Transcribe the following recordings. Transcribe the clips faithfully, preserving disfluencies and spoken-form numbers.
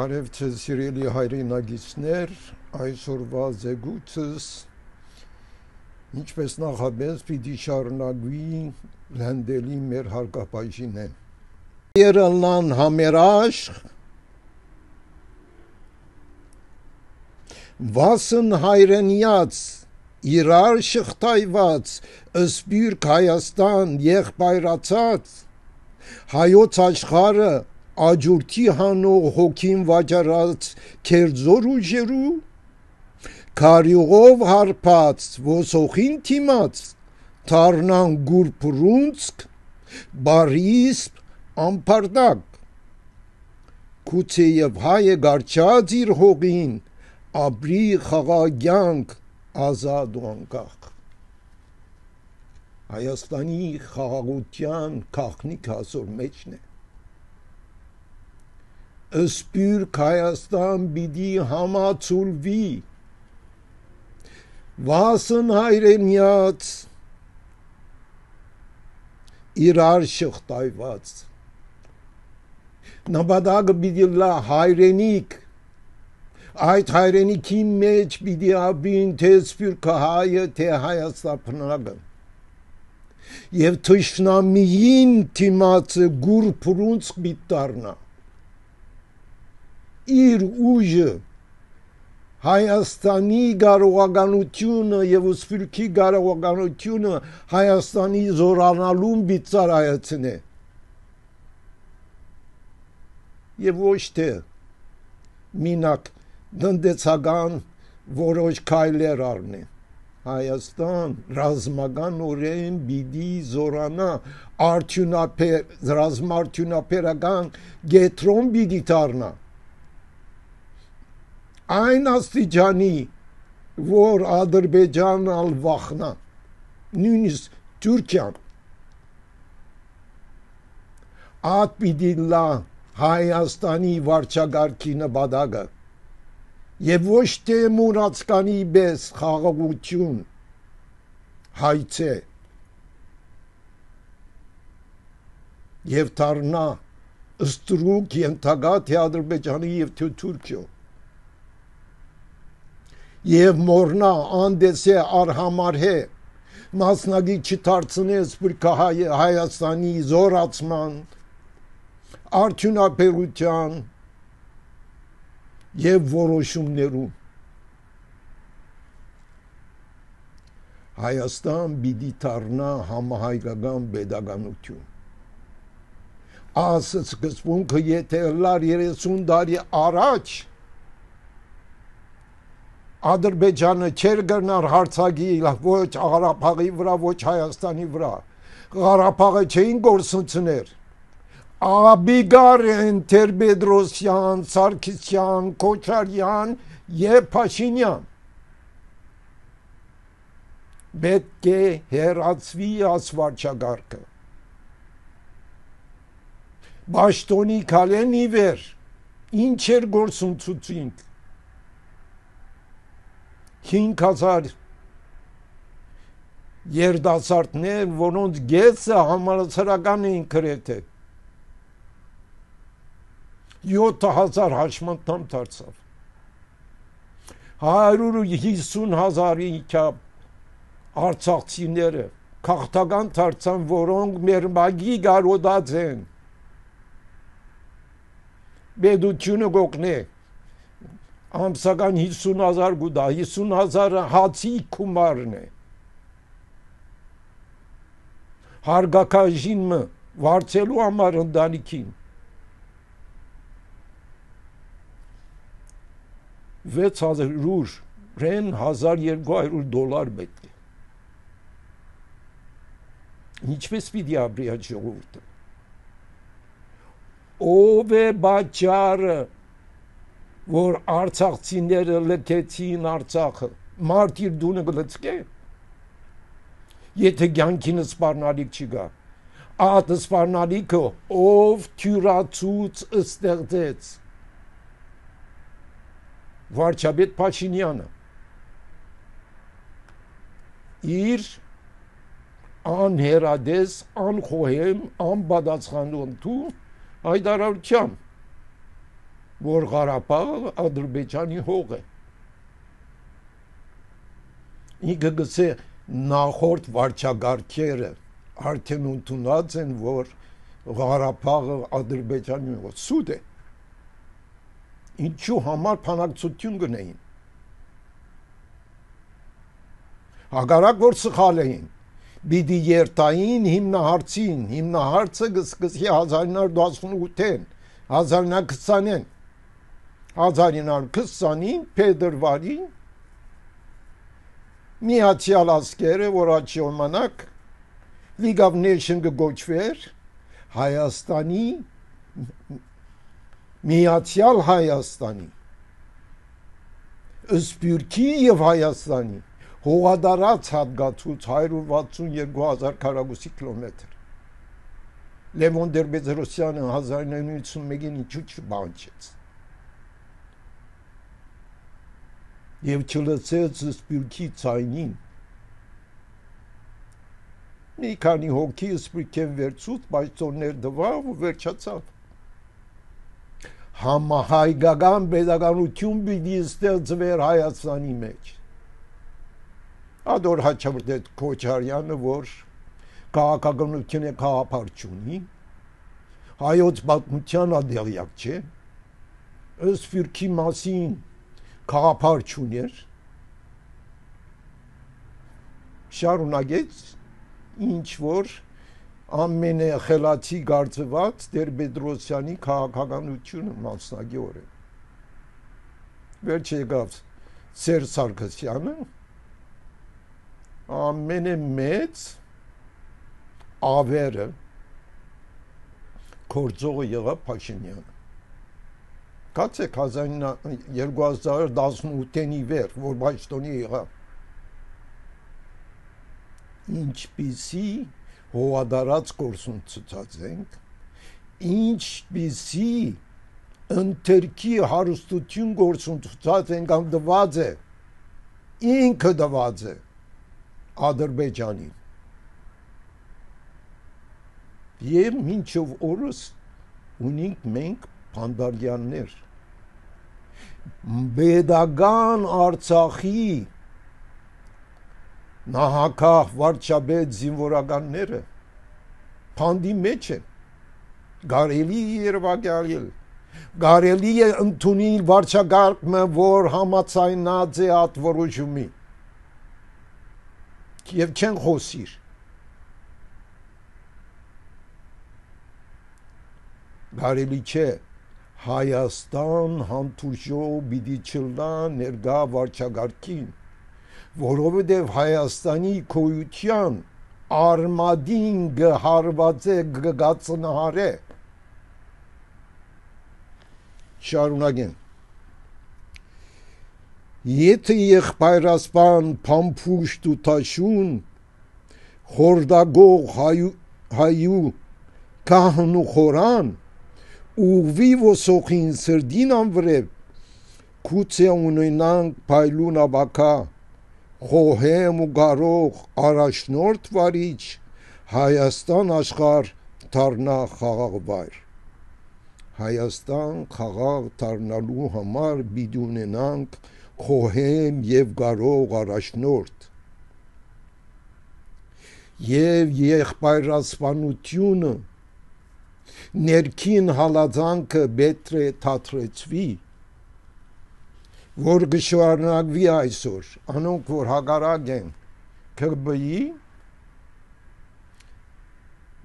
Բարեւ ձեզ, սիրելի հայրենակիցներ, այսօրուայ զեկուցս ինչպէս նախապէս պիտի շարունակուի լենդելի մեր հարկաբաժինէն։ Երելան համերաշխ, վասն հայրենիաց, իրար շղթայված, սփիւռք Հայաստան եղբայրացած, հայոց աշխարհը աճուրդի հանող հոգին վաճառած գերձոր ուժերու, քարիւղով հարբած ոսոխին դիմաց, դառնան կուռ փռունցք, բարիսպ, անբարդակ։ Գուցեեւ հայը կառչած իր հողին, ապրի խաղաղ կեանք, ազատ ու անկախ։ Հայաստանի խաղաղութեան գաղտնիքը ասոր մէջն է։ Սփիւռք Հայաստան պիտի համաձուլուի, վասն հայրենիաց, իրար շղթայված։ Նպատակը պիտի ըլլայ հայրենիք։ Այդ հայրենիքի մէջ պիտի ապրին թէ սփիւռքը հայը, թէ հայաստաբնակը։ Եւ թշնամիին դիմացը կուռ փռունցք պիտի դառնայ։ Իր ուժը, Հայաստանի կարողականութիւնը եւ սփիւռքի կարողականութիւնը Հայաստանի զօրանալուն պիտի ծառայեցնէ։ Եւ ոչ թէ մինակ տնտեսական որոշ քայլեր առնէ։ Հայաստան ռազմականօրէն պիտի զօրանայ, արդիւնաբեր-, ռազմաարդիւնաբերական կեդրոն պիտի դառնայ։ Այն աստիճանի, որ Ադրբեջանն ալ վախնայ, նոյնիսկ Թուրքիան, ատ պիտի ըլլայ Հայաստանի վարչակարգի նպատակը, եւ ոչ թէ մուրացկանի պէս խաղաղութիւն, հայցէ, եւ դառնայ ստրուկ ենթակայ թէ Ադրբեջանի եւ թէ Թուրքիոյ, եւ մոռնայ, անտեսէ, արհամարհէ, մասնակից չդարձնէ սփիւռքը Հայ-, Հայաստանի զօրացման, արդիւնաբերութեան եւ որոշումներուն։ Հայաստան պիտի դառնայ համահայկական պետականութիւն։ Այս սկզբունքը եթէ ըլլար երեսուն տարի առաջ, Ադրբեջանը չէր կրնար հարձակիլ ոչ Ղարաբաղի վրայ, ոչ Հայաստանի վրայ։ Ղարաբաղը չէին կորսնցներ։ Աբիգար են Տեր-Պետրոսեան, Սարգսեան, Քոչարեան եւ Փաշինեան։ Պէտք է հեռացուի այս վարչակարգը։ Պաշտօնի քալեն ի վեր, ինչ էր գործընծուցինք։ Հինգ հազար երիտասարդներ, որոնց կեսը համալսարական էին գրեթէ, յոթ հազար հաշմանդամ դարձաւ։ Հարյուր հիսուն հազարի չափ արցախցիները գաղթական դարձան, որոնք մեր մագի կարոտած են։ Պետությունը կօգնէ, ամսական հիսուն հազար կու տայ, հիսուն հազարը հացի գումարն է։ Հարգակաժին մը վարձելու համար ընտանիքին վեց հազարէն հազար երկու հարյուր դոլար պէտք է։ Ինչպէս պիտի ապրի այդ ժողովուրդը։ Ո՞վ է պատճառը, որ արցախցիները լքեցին Արցախը։ Մարդ իր տունը կը լցկէ, եթե կեանքին սպառնալիք չկայ։ Այդ սպառնալիքը ով թիւրացուց ստեղծեց, վարչապետ Փաշինեանը իր անհերատես, անխոհեմ, անպատասխանատու հայտարարությամբ։ որ Ղարաբաղը Ադրբեջանի հող է։ Ինքը գսե, նախորդ վարչակարգերը արդեն ընդունած են, որ Ղարաբաղը Ադրբեջանի հող է։ Սուտ է։ Ինչու համար բանակցություն գնային։ Հակառակ որ սխալ էին, պիտի երթային հիմնահարցին, հիմնահարցը կսկսի հազարինար տասնութ-ին, հազարինար քսանին, փետրվարին Միացեալ Ազգերը, որ այդ ժամանակ League of Nation կը կոչուէր, Հայաստանի, Միացեալ Հայաստանի, Սփիւռքի եւ Հայաստանի հողատարած հատկացուց հարիւր վաթսուն երկու հազար քառակուսի կիլոմետր։ Լեւոն Տեր-Պետրոսյանը հազար ինը յոթ սուն մէկին ինչու չպահանջեց եւ չլսեց Սփիւռքի ձայնին։ Մի քանի հոգի Սփիւռքէն վերցուց, բայց տոններ տուաւ ու վերջացաւ։ Համահայկական պետականութիւն պիտի ստեղծուէր Հայաստանի մէջ։ Ատոր Հաչապտետ Քոչարեանը, որ քաղաքականութիւնը գաղափար չունի, հայոց պատմութեան ատեղեակ չէ, Սփիւռքի մասին գաղափար չունէր, շարունակեց ինչ որ ամենախելացի կարծուած Տեր-Պետրոսյանի քաղաքականութիւնը մասնակիորեն։ Վերջը եկաւ Սերժ Սարգսեանը, ամենէ մեծ ավերը գործողը եղաւ Փաշինեանը։ Գացեք հազար երկու հազար տասնութ-ին ի վեր, որ պաշտոնի եղաւ։ Ինչպիսի հողատարած գործունեացած ենք, ինչպիսի ընթերքի հարստութիւն գործունեացած ենք, կամ տուած է, ինքը տուած է Ադրբեջանին։ Եւ մինչեւ օրս ունինք մենք բանտարկյալներ։ Պետական Արցախի նահագահ վարչապետ զինվորականները բանտի մէջ են։ Կարելի է երեւակայել, կարելի է ընդունիլ վարչակարգ մը, որ համաձայնած է այդ որոշումի։ Եւ չեն խօսիր։ Կարելի չէ, Հայաստան հանդուրժող պիտի չլնայ ներկայ վարչակարգին, որովհետեւ Հայաստանի գոյութեան արմատին կը հարուածէ, կը կածնահարէ։ Շարունակեմ։ Եթէ եղբայրասպան փամփուշտ ու թաշուն, խորտակող հայու, հայու գահն ու խորան, ուղղուի ոսոխին սրտին անվրէ, գուցե ունենանք փայլուն ապագայ, խոհեմ ու կարող առաջնորդ վարիչ, Հայաստան աշխարհ դառնայ խաղաղ վայր։ Հայաստան խաղաղ դառնալու համար պիտի ունենանք խոհեմ եւ կարող առաջնորդ։ Եւ եղբայրասպանութիւնը, ներքին հալածանքը պէտք է դադրեցուի, որ կը շարունակուի այսօր։ Անոնք, որ հակառակ են Ք Բ Ի,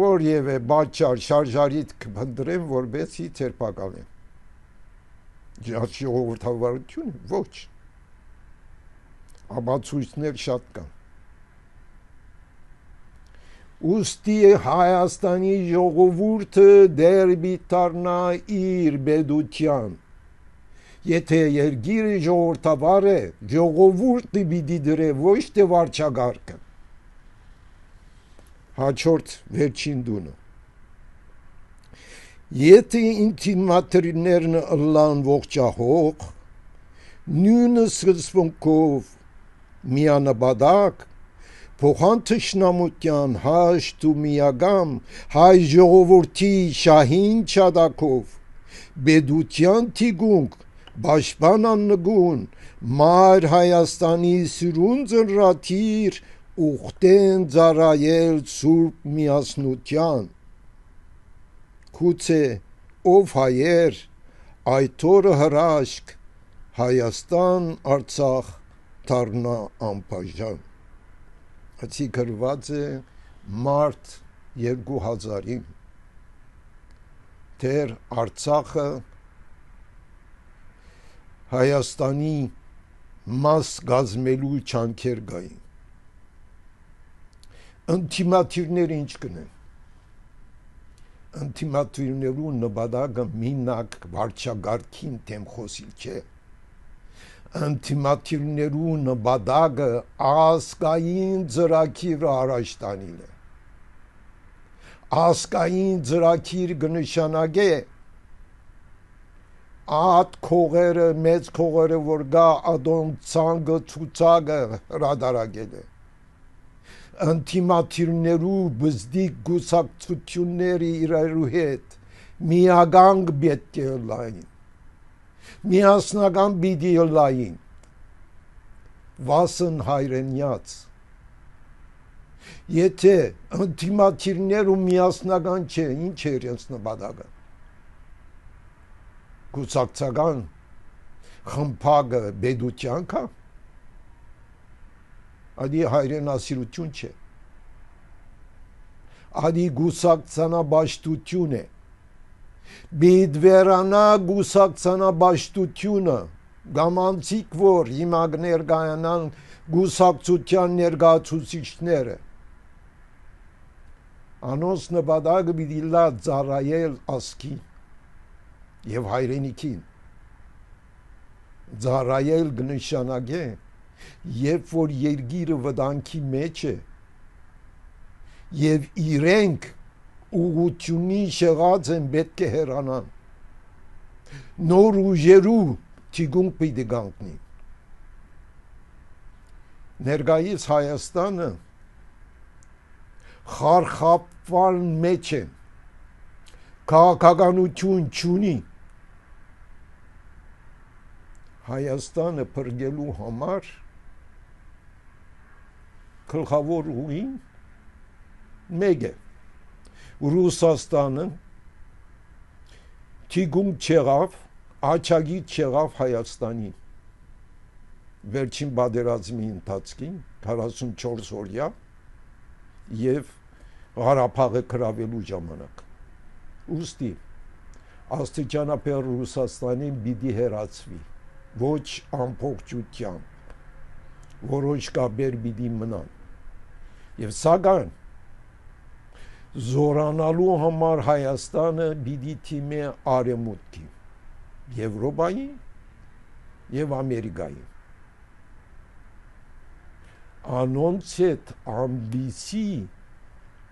որեւէ պատճառ շարժարիտ կը փնտրեն, որպեսզի ձերբակալեն։ Ժ-, ժողովրդավարությունը ոչ։ Ապացոյցներ շատ կան։ Ուստի Հայաստանի ժողովուրդը դեռ պիտի դառնայ իր պետութեան։ Եթէ երկիրը ժողովրդավար է, ժողովուրդը պիտի դրէ, ոչ թէ վարչակարգը։ Հաջորդ վերջին տունը։ Եթէ ինքնին մատերներն ըլլան ողջահող, նոյն սկզբունքով միանպատակ, փոխան թշնամութեան հաշտ ու միակամ հայ ժողովրդի շահին չատակով, Պետութեան թիկունք, պաշտպան աննկուն, մայր Հայաստանի սիրուն ծնրադիր, ուխտեն ծառայել սուրբ միասնութեան։ Գուցե ով հայեր, այդ օրը հրաշք, Հայաստան, Արցախ դառնայ անբաժան։ Ասի գրուած է մարտ երկու հազարին, դեռ Արցախը Հայաստանի մաս կազմելու ջանքեր կային։ Ընդդիմադիրները ինչ կ'ընեն։ Ընդդիմադիրներու նպատակը մինակ վարչակարգին դէմ խօսիլ չէ։ Ընդդիմադիրներու նպատակը ազգային ծրագիրը առաջ տանիլ է։ Ազգային ծրագիր կը նշանակէ այդ քողերը, մեծ քողերը որ կայ, ատոնց ցանկը, ցուցակը հրատարակել է։ Ընդդիմադիրներու բզդիկ կուսակցութիւնները իրարու հետ միական պէտք է ըլլային, միասնական պիտի ըլլային, վասն հայրենեաց։ Եթէ ընդդիմադիրներ ու միասնական չէ, ինչ է իրենց նպատակը։ Կուսակցական խմբակը պետութեան կայ, ադի հայրենասիրութիւն չէ, ադի կուսակցանապաշտութիւն է։ Պիտի վերանայ կուսակցանապաշտութիւնը, կամ անցիկ որ հիմա կը ներկայանան կուսակցութեան ներկայացուցիչները, անոնց նպատակը պիտի լա ծառայել ազգին եւ հայրենիքին։ Ծառայել կը նշանակէ, երբ որ երկիրը վտանգի մեջ է եւ իրենք ուղղութիւնին շեղած են, պէտք է հեռանան, նոր ուժերու թիկունք պիտի կանգնին։ Ներկայիս Հայաստանը խարխափման մեջ է, քաղաքականութիւն չունի։ Հայաստանը փրկելու համար գլխաւոր ուղին մէկ է։ Ռուսաստանը թիկունք չեղաւ, աջակից չեղաւ Հայաստանին վերջին պատերազմի ընթացքին, քառասունչորս օրեայ, եւ Ղարաբաղը գրաւելու ժամանակ։ Ուստի աստիճանաբար Ռուսաստանին պիտի հեռացուի, ոչ ամբողջութեամբ, որոշ կապեր պիտի մնան։ Եւ սակայն զորանալու համար Հայաստանը պիտի դիմէ արեւմուտքի, Եվրոպայի եւ Ամերիկայի։ Անոնց հետ ամպիսի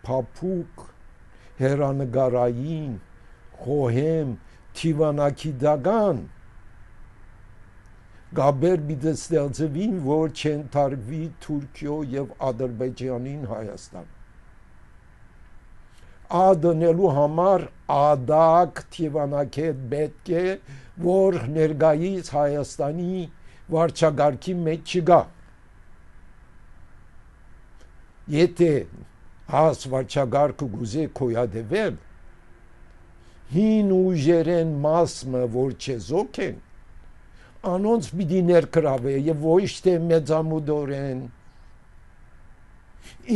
փափուկ, հեռանկարային, խոհեմ, դիվանագիտական կապեր պիտի ստեղծուին, որ չեն թարգուի Թուրքիոյ եւ Ադրբեջանին Հայաստան։ Ա դնելու համար ադակ դիվանագետ պէտք է, որ ներկայիս Հայաստանի վարչակարգի մեջ չկայ։ Եթէ այս վարչակարգը կ'ուզէ գոյատեւել, հին ուժերէն մաս մը, որ չեզոք են, անոնց պիտի ներգրաւէ եւ ոչ թէ մեծամտորեն,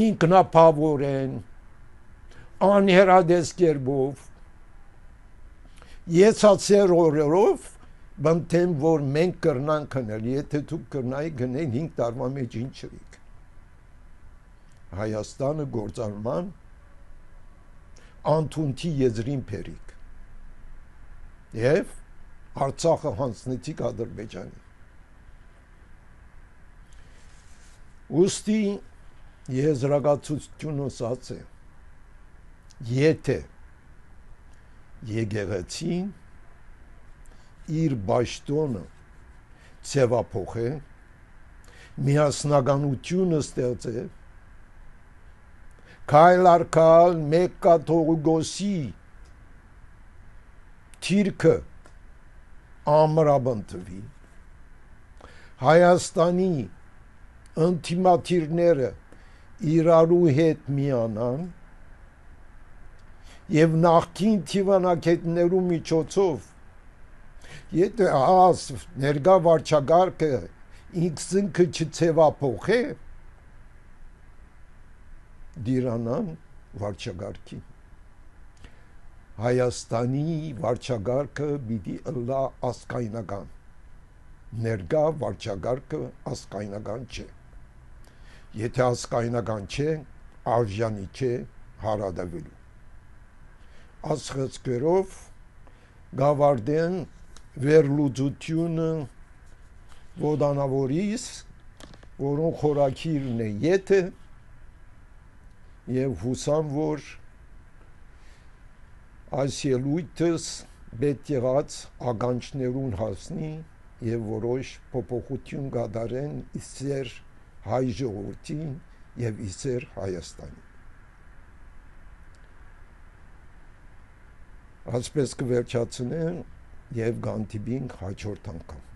ինքնաբավօրէն, անհեռատես կերպով, եսացեր օրերով, բնտեմ որ մենք կրնանք գնել, եթէ դուք կրնայիք գնել հինգ տարուան մեջ ինչ ըլիք։ Հայաստանը գործարման անդունդի եզրին բերիք եւ Արցախը յանձնեցիք Ադրբեջանի։ Ուստի եզրակացութիւնը ասած է, եթէ եկեղեցին իր պաշտոնը ձեւափոխէ, միասնականութիւնը ստեղծէ, քայլ առ քայլ մէկ կաթողիկոսի դիրքը ամրապնդուի, Հայաստանի ընդդիմադիրները իրարու հետ միանան եւ նախկին դիվանագետներու միջոցով, եթե աս ներկայ վարչակարգը ինքզինքը չձեւափոխէ, դիրանան վարչակարգին։ Հայաստանի վարչակարգը պիտի ըլլայ ազգայնական։ Ներկայ վարչակարգը ազգայնական չէ։ Եթե ազգայնական չէ, արժանի չէ հարատեւելու։ Ասխծքերով կավարտեն վերլուծությունը ոտանաւորիս, որուն խորագիրն է եթը, եւ յուսամ, որ այս ելույթս պետք եղած ականջներուն հասնի եւ որոշ փոփոխություն կատարեն ի սեր հայ ժողովրդին եւ ի սեր Հայաստանին։ Այսպես կը վերջացնեմ եւ կհանդիպինք հաջորդ անգամ։